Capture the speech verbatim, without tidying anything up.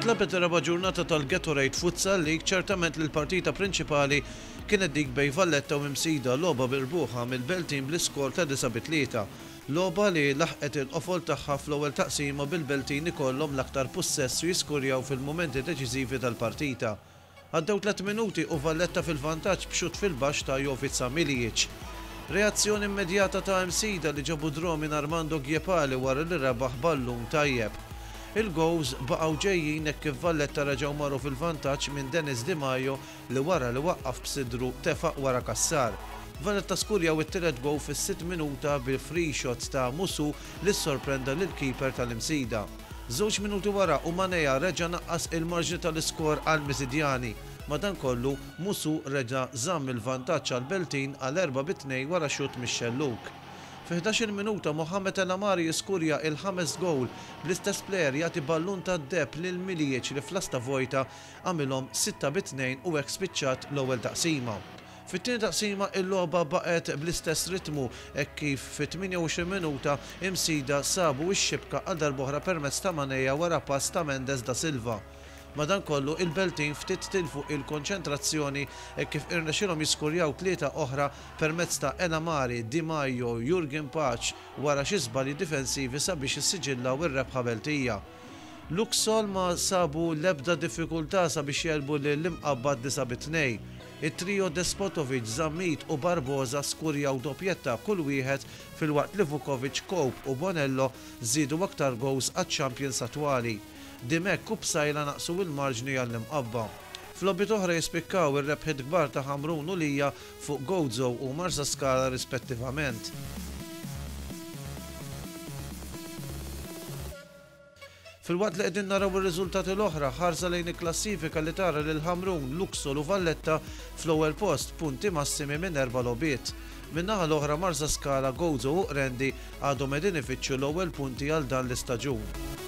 Intlagħbet ir-raba' ġurnata tal-Gatorade Futsal League. Ċertament li l-partita prinċipali kienet dik bejn Valletta u Msida, logħba mirbuħa mill-Beltin bl-iskor ta' disa bi tlieta. Logħba li laħqet il-qofol tagħha fl-ewwel taqsima, bil-Beltin ikollhom l-aktar pussess u jiskurjaw fil-mumenti deċiżivi tal-partita. Għaddew tliet minuti u Valletta fil-vantaġġ b'xut fil-baxx ta' Jovica Milijic. Reazzjoni immedjata ta' Msida li ġabu draw minn Armando Giepali wara li rebaħ ballun tajjeb. Il-goals baqgħu ġejjin hekk kif Valletta reġgħu marru fil-vantaġġ minn Dennis Di Maio li wara li waqqaf b'sidru tefa' wara Kassar. Valletta skurjaw it-tielet goal fis-sitt minuta bil-free shot ta' Musu li sorprenda lil keeper tal-Imsida. Żewġ minuti wara u Maneja reġa' naqqas il-marġni tal-iskor għal Misidjani. Madankollu Musu reġa' żamm il-vantaġġ għal Beltin għal erba' bi tnejn wara xut mix-xelluk. Fi ħdax-il minuta Mohamed El Amari jiskurja il-ħames goal, bl-istess player jagħti ballun ta' deheb lil Milijic li fl-lasta vojta għamilhom sitta bi tnejn u hekk spiċċat l-ewwel taqsima. Fit-tieni taqsima il-logħba baqgħet bl-istess ritmu hekk kif fit-tmienja u għoxrin minuta Imsida sabu x-xibka għal darb'oħra permezz ta' Maneja wara pass ta' Mendes da Silva. Madankollu il-Beltin ftit tilfu il-konċentrazzjoni e kif irnexilhom jiskurjaw tlieta oħra permezz ta' Elamari, Di Maio, Jurgen Paċ wara xi żbalji difensivi sabiex issiġillaw ir-rebħa Beltija. Luxol ma sabu l-ebda diffikultà sabiex jegħlbu l-Imqabba disa bi tnejn. It-trio Despotovic, Zammit u Barbosa skurjaw dopjetta kull wieħed, filwaqt li Vukovic, Cope u Bonello żiedu aktar goals għaċ-champions attwali. Dimek u Psajla naqsu il-marġni għall-Imqabba. F'logħbiet oħra jispikkaw ir-rebħiet kbar ta' Ħamrun u Lija fuq Gozo u Marsaskala rispettivament. Filwaqt li qegħdin naraw ir-riżultati l-oħra, ħarsa lejn il-klassifika li tara lil Ħamrun, Luxol u Valletta fl-ewwel post, punti massimi minn erba' logħbiet. Min-naħa l-oħra Marsaskala, Gozo u Qrendi għadhom qegħdin ifittxu l-ewwel punti għal dan l-istaġun.